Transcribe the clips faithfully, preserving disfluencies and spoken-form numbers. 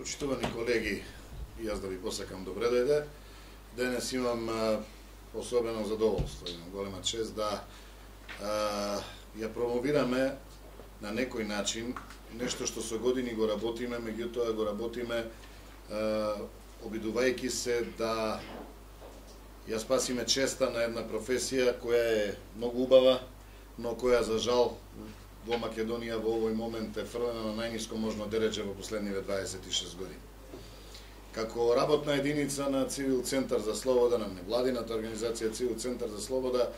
Почитувани колеги, и јас да ви посакам добре дојде. Денес имам а, особено задоволство, имам голема чест да а, ја промовираме на некој начин нешто што со години го работиме, меѓутоа го работиме а, обидувајќи се да ја спасиме честа на една професија која е многу убава, но која за жал во Македонија во овој момент е фрлена на најниско можно дередже во последниве дваесет и шест години. Како работна единица на Цивил Центар за Слобода, на невладината организација Цивил Центар за Слобода,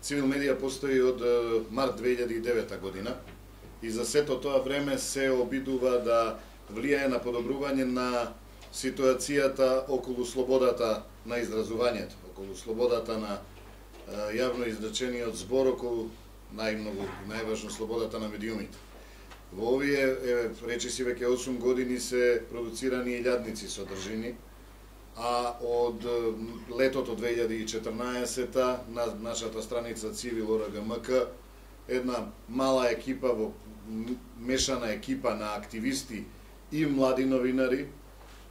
Цивил Медија постои од март две илјади и девета година и за сето тоа време се обидува да влијае на подобрување на ситуацијата околу слободата на изразувањето, околу слободата на јавно изречениот збор, околу најмногу и најважно слободата на медиумите. Во овие, е, речиси, веќе осум години се продуцирани илјадници содржини, а од летото две илјади и четрнаесета на нашата страница Цивил О Р Г М К една мала екипа, во мешана екипа на активисти и млади новинари,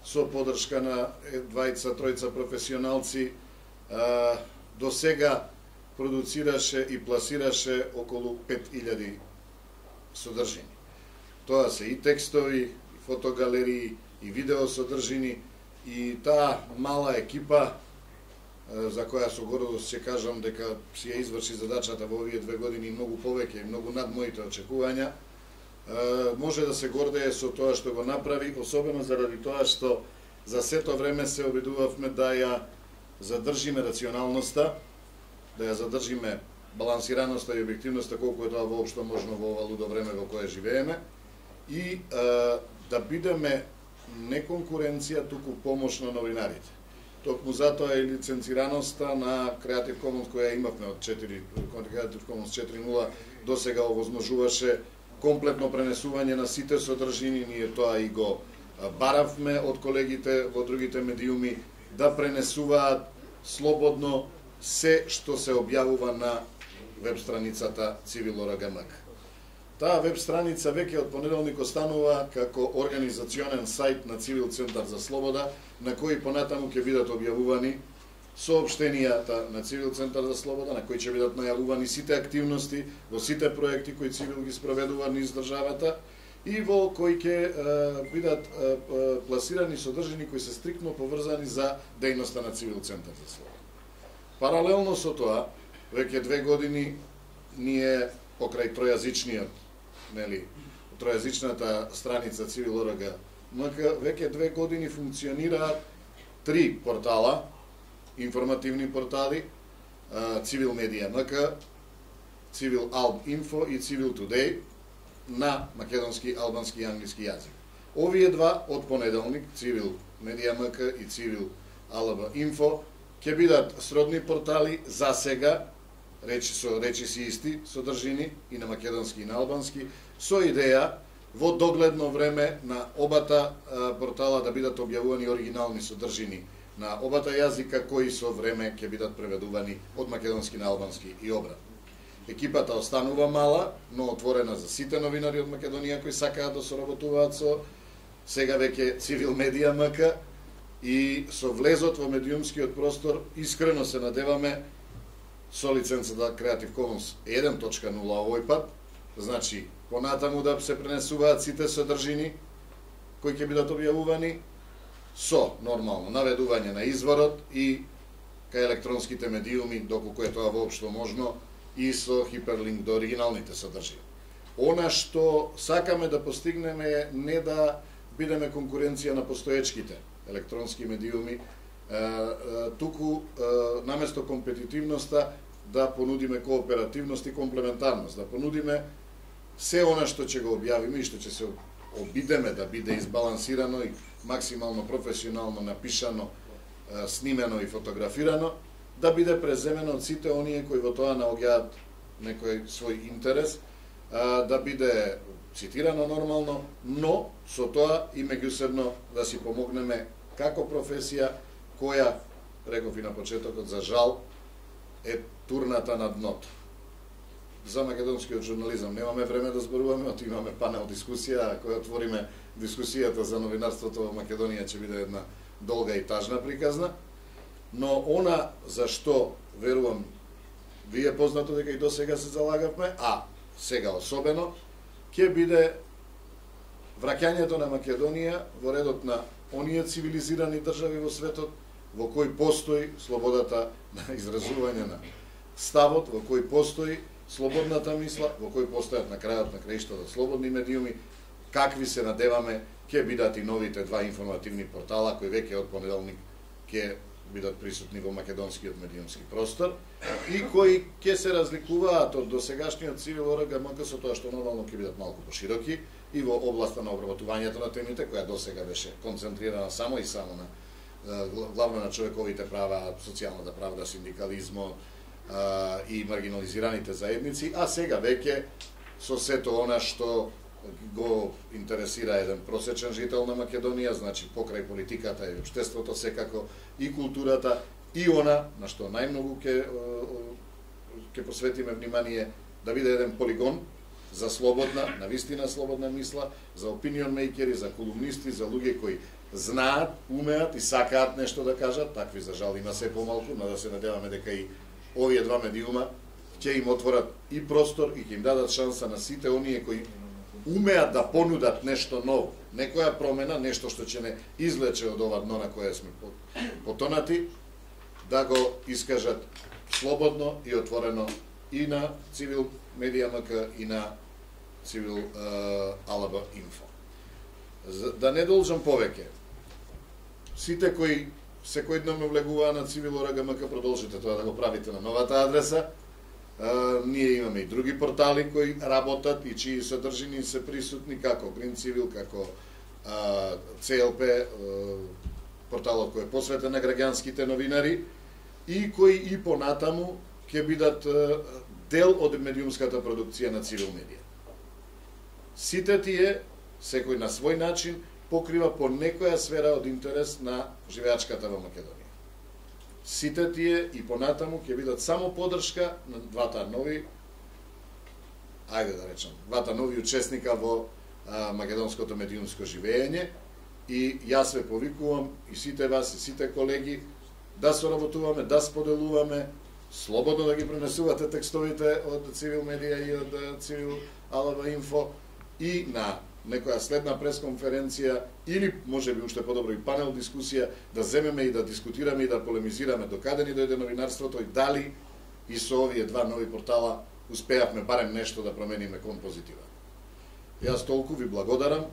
со подршка на двајца, тројца професионалци, до сега продуцираше и пласираше околу пет илјади содржини. Тоа се и текстови, и фотогалерии, и видео содржини, и таа мала екипа, за која со гордост ќе кажам дека си ја изврши задачата во овие две години многу повеќе и многу над моите очекувања, може да се гордее со тоа што го направи, особено заради тоа што за сето време се обидувавме да ја задржиме рационалноста, да ја задржиме балансираноста и објективноста колку е тоа воопшто можно во ова лудо време во кое живееме и е, да бидеме не конкуренција, туку помош на новинарите. Токму затоа е лиценцираноста на Creative Commons која имавме од четири, Creative Commons четири нула до сега овозможуваше комплетно пренесување на сите содржини, ние тоа и го баравме од колегите во другите медиуми да пренесуваат слободно се што се објавува на веб страницата Цивил О Р Г М К. Таа веб страница веќе од понеделник останува како организационен сајт на Цивил Центар за Слобода, на кој понатаму ќе бидат објавувани соопштенијата на Цивил Центар за Слобода, на кој ќе бидат најавувани сите активности во сите проекти кои Цивил ги спроведува низ државата и во кои ќе бидат е, е, пласирани содржини кои се стриктно поврзани за дејноста на Цивил Центар за Слобода. Паралелно со тоа, веќе две години ние покрај тројазичниот, нели, тројазичната страница Цивил О Р Г М К, веќе две години функционираат три портала, информативни портали, Цивил Медија М К, Цивил Алб Инфо и Цивил Тудеј на македонски, албански и англиски јазик. Овие два од понеделник, Цивил Медија М К и Цивил Алб Инфо, ќе бидат сродни портали за сега, речи со речиси исти содржини и на македонски и на албански, со идеја во догледно време на обата а, портала да бидат објавувани оригинални содржини на обата јазика кои со време ќе бидат преведувани од македонски на албански и обратно. Екипата останува мала, но отворена за сите новинари од Македонија кои сакаат да соработуваат со сега веќе Цивил Медија М К и со влезот во медиумскиот простор искрено се надеваме со лиценцата Creative Commons еден точка нула овој пат, значи понатаму да се пренесуваат сите содржини кои ќе бидат објавувани со нормално наведување на изворот и кај електронските медиуми доколку е тоа воопшто можно и со хиперлинк до оригиналните содржини. Она што сакаме да постигнеме е не да бидеме конкуренција на постоечките електронски медиуми, туку наместо компетитивноста да понудиме кооперативност и комплементарност, да понудиме се она што ќе го објавиме и што ќе се обидеме да биде избалансирано и максимално професионално напишано, снимено и фотографирано, да биде преземено од сите оние кои во тоа наоѓаат некој свој интерес, да биде цитирано нормално, но со тоа и меѓусебно да си помогнеме како професија која, реков и на почетокот, за жал, е турната на дното. за македонскиот журнализам немаме време да зборуваме, оти имаме панел дискусија, која отвориме дискусијата за новинарството во Македонија ќе биде една долга и тажна приказна, но она за што верувам ви е познато дека и до сега се залагавме, а сега особено, ќе биде враќањето на Македонија во редот на оние цивилизирани држави во светот во кој постои слободата на изразување на ставот, во кој постои слободната мисла, во кој постојат на крајот на краиштата слободни медиуми, какви се надеваме ќе бидат и новите два информативни портала кои веќе од понеделник ќе бидат присутни во македонскиот медиумски простор и кои ќе се разликуваат од досегашниот Цивил ОРГМК со тоа што нормално ќе бидат малку пошироки и во областа на обработувањето на темите, која досега беше концентрирана само и само на главно на човековите права, социјалната правда, синдикализмот и маргинализираните заедници, а сега веќе со сето она што го интересира еден просечен жител на Македонија, значи покрај политиката и општеството секако, и културата, и она на што најмногу ќе ќе посветиме внимание, да биде еден полигон за слободна, навистина слободна мисла, за опинион мејкери, за колумнисти, за луѓе кои знаат, умеат и сакаат нешто да кажат, такви за жал има се помалку, но да се надеваме дека и овие два медиума ќе им отворат и простор и ќе им дадат шанса на сите оние кои умеат да понудат нешто ново, некоја промена, нешто што ќе не излече од ова дно на кое сме потонати, да го искажат слободно и отворено и на Цивил Медија МК и на Цивил АЛБ Инфо. Да не должам повеќе, сите кои секојдневно влегуваат на Цивил ОРГМК, продолжите тоа да го правите на новата адреса. Uh, ние имаме и други портали кои работат и чии содржини се присутни, како Green Civil, како uh, Це Ел Пе, uh, порталот кој е посветен на граѓанските новинари и кои и понатаму ќе бидат uh, дел од медиумската продукција на Цивил Медија. Сите тие, секој на свој начин, покрива по некоја сфера од интерес на живеачката во Македонија. Сите тие и понатаму ќе бидат само поддршка на двата нови, ајде да речем, двата нови учесника во а, македонското медиумско живење и јас ве повикувам и сите вас и сите колеги да соработуваме, да споделуваме, слободно да ги пренесувате текстовите од Цивил Медија и од Цивил АЛБ Инфо и на некоја следна пресконференција или можеби уште подобро и панел дискусија да земеме и да дискутираме и да полемизираме докаде ни дојде новинарството и дали и со овие два нови портала успеавме барем нешто да промениме кон позитива. Јас толку ви благодарам.